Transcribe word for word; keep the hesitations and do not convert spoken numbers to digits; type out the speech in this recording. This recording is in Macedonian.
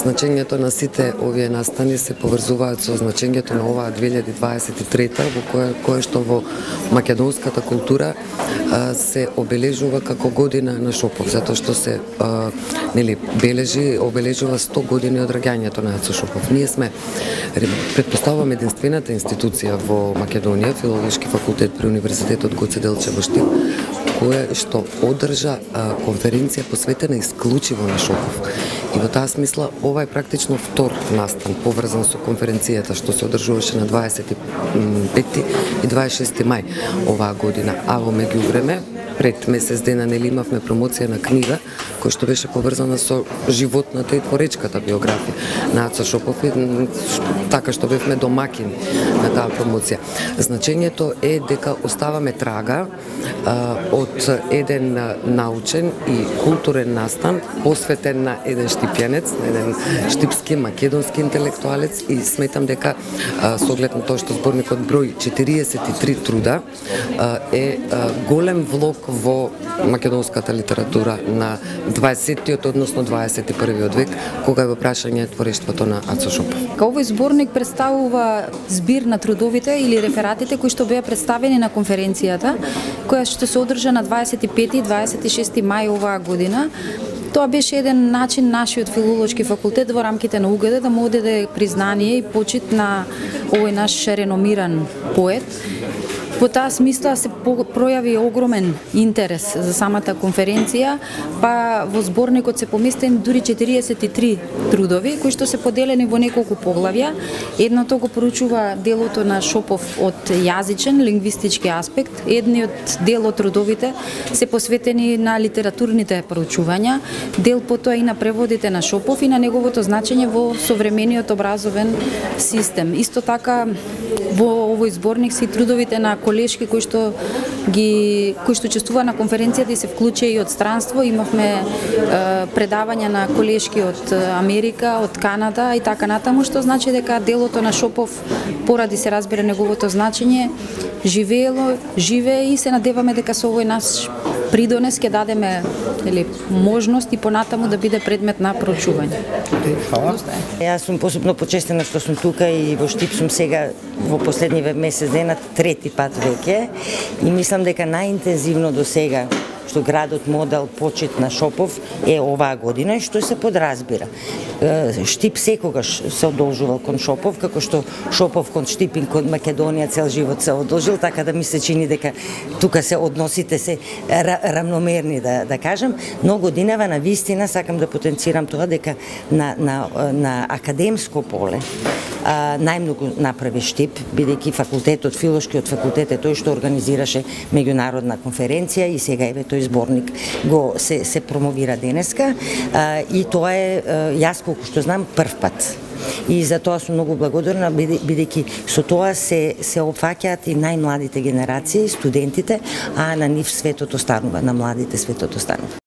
Значењето на сите овие настани се поврзуваат со значењето на оваа две илјади дваесет и трета, во кое, кое што во македонската култура а, се обележува како година на Шопов, затоа што се а, нели бележи, обележува сто години од раѓањето на Ацо Шопов. Ние сме, претпоставувам, единствената институција во Македонија, Филолошки факултет при Универзитетот Гоце Делчев во Штип, кое што одржа а, конференција посветена исклучиво на Шопов. И во таа смисла ова е практично втор настан поврзан со конференцијата што се одржуваше на дваесет и пети и дваесет и шести мај оваа година. А во меѓувреме, пред месец дена нели имавме промоција на книга која што беше поврзана со животната и творечката биографија на Ацо Шопов, така што бевме домакини на таа промоција. Значењето е дека оставаме трага а, од еден научен и културен настан посветен на еден штипјанец, на еден штипски македонски интелектуалец, и сметам дека а, со оглед на тоа што зборникот брои четириесет и три труда а, е а, голем влог во македонската литература на дваесеттиот, односно дваесет и првиот век, кога е во прашање творештвото на Ацо Шопов. Овој зборник представува збир на трудовите или рефератите кои што беа представени на конференцијата, која што се одржа на дваесет и пети и дваесет и шести мај оваа година. Тоа беше еден начин нашиот филолошки факултет во рамките на УГД да му одаде признание и почит на овој наш реномиран поет. Во таа смисла се пројави огромен интерес за самата конференција, па во зборникот се поместени дури четириесет и три трудови кои што се поделени во неколку поглавја. Едното го поручува делото на Шопов од јазичен, лингвистички аспект, едниот дел од трудовите се посветени на литературните проучувања, дел потоа и на преводите на Шопов и на неговото значење во современиот образовен систем. Исто така во овој зборник се и трудовите на колешки кои што ги кои што учествува на конференцијата и се вклучи и од странство. Имавме е, предавања на колешки од Америка, од Канада и така натаму, што значи дека делото на Шопов, поради се разбира неговото значење, живеело, живее и се надеваме дека со овој наш придонес ќе дадеме или можност и понатаму да биде предмет на проучување. Хвала. Јас сум посебно почестена што сум тука и во Штип сум сега во последниве месец дена трети пат веќе и мислам дека најинтензивно до сега што градот му дал почит на Шопов е оваа година и што се подразбира. Штип секогаш се одолжувал кон Шопов, како што Шопов кон Штип и кон Македонија цел живот се одолжил, така да ми се чини дека тука се односите се равномерни, да, да кажам, но годинава на вистина сакам да потенцирам тоа дека на, на, на академско поле а, најмногу направи Штип, бидејќи факултетот, филолошкиот факултет е тој што организираше меѓународна конференција и сега еве тој зборник го се, се промовира денеска а, и тоа е а, јас колку што знам прв пат. И за тоа сум многу благодарна, бидејќи со тоа се се опфаќаат и најмладите генерации, студентите, а на нив светот останува, на младите светот останува.